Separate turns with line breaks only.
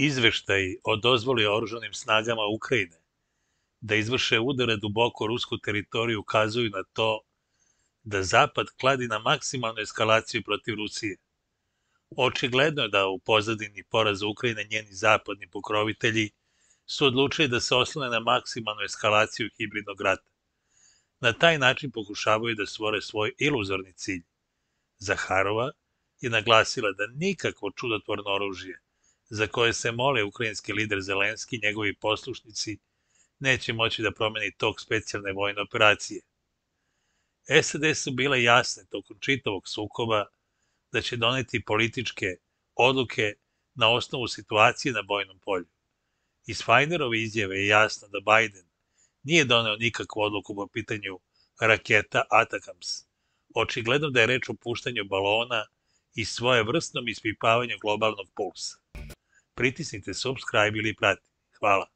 Izveštaji o dozvoli oružanim snagama Ukrajine da izvrše udare duboko u rusku teritoriju ukazuju na to da Zapad kladi na maksimalnu eskalaciju protiv Rusije. Očigledno je da u pozadini poraza Ukrajine njeni zapadni pokrovitelji su odlučili da se oslone na maksimalnu eskalaciju hibridnog rata. Na taj način pokušavaju da stvore svoj iluzorni cilj. Zaharova je naglasila da nikakvo čudotvorno oružje za koje se mole ukrajinski lider Zelenski i njegovi poslušnici neće moći da promeni tok specijalne vojne operacije. SAD su bile jasne tokom čitavog sukoba da će doneti političke odluke na osnovu situacije na bojnom polju. Iz Fajnerove izjave je jasno da Biden nije doneo nikakvu odluku po pitanju raketa Atakams. Očigledno da je reč o puštanju balona i svojevrsnom ispipavanju globalnog pulsa. Pritisnite subscribe ili prati. Hvala.